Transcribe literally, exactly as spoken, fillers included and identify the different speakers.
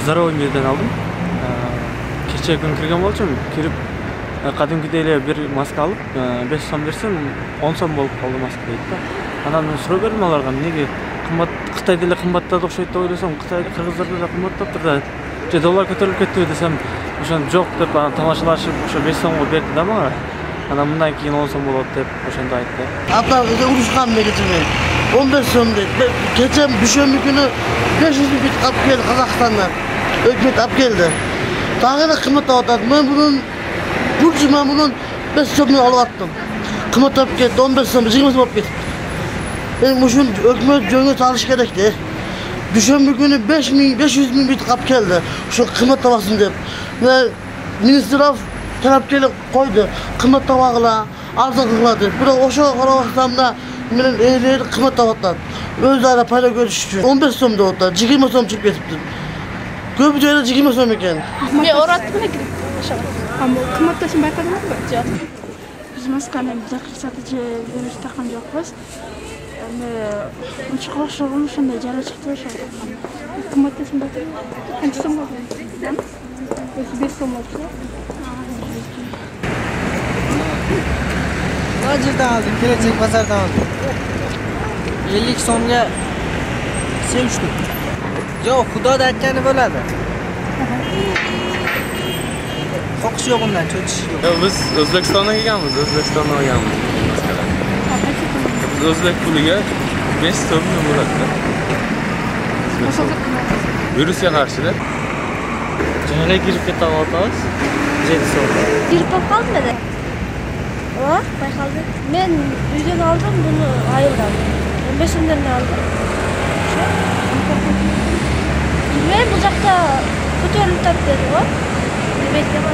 Speaker 1: Здоровьеден алдым. Кечээ күн кирген болчумун. Кирип кадимкидей эле бир маска алып, беш сом берсем, он сом болуп калды маска дейт да. Анан мен суроо бердим аларга, эмнеге кымбат, Кытайда эле кымбаттады окшойт деп ойлосом, Кытай кыргыздарда да кымбаттаптыр да. Же доллар көтөрүлүп кеттиби десем, ошон жок деп анан тамашалашып, ошо беш сомго берди да мага. Анан мындан кийин он сом болот деп ошондо айтты.
Speaker 2: Апа урушкан негизинен он беш сом дейт. Кече дүйшөмбү күнү беш жүз миң бит алып келди Казакстандан. Өкмөт алып келди. Дагы эле кымбаттап атат. Мен мунун бул жума мунун беш сомдон алып аттым. Кымбаттап кетти, он беш сом, жыйырма сом болуп кетти. Мен ушун өкмөт жөнгө салыш керек да. Дүйшөмбү күнү беш миң, беш жүз миң бит алып келди. Ошо кымбаттабасын деп. Мен министров талап келип койду. Кымбаттабагыла, арзан кылгыла деп. Бирок ошого карабастан да менен элер кымбаттап атат. Өз ара пайда көрүш үчүн он беш сом деп атат, жыйырма сом чыгып кетиптир. Көп жайда жыйырма сом экен.
Speaker 3: Мен ораттым эле кирип ошого.
Speaker 4: Ама кымбатташын байкадыңызбы?
Speaker 3: Жок.
Speaker 4: Биз масканы жакшы сатып же берип такан жокпуз. Эми учук окшогон ошондой жара чыкты ошо. Кымбатташын байкадыңызбы? Канча сом болду? беш сом болчу.
Speaker 5: Базардан алдым, келечек базардан алдым. ellik so'mga sevishdik. Yo'q, Xudoda aytgani bo'ladi. Qo'qish yo'q undan, cho'chish yo'q.
Speaker 6: Yo'q, biz O'zbekistondan kelganmiz, O'zbekistondan olganmiz. Biz o'zbek puliga besh so'm bo'ladi. Virusga qarshi-da.
Speaker 1: Жаңа кирип кетип атабыз. жети сом.
Speaker 3: Кирип калдым да. О, байкалды. Мен үйдөн алдым, буну айылдан. он беш сомдон алдым. Мен бул жакта көтөрүлүп атат деди го. Эметке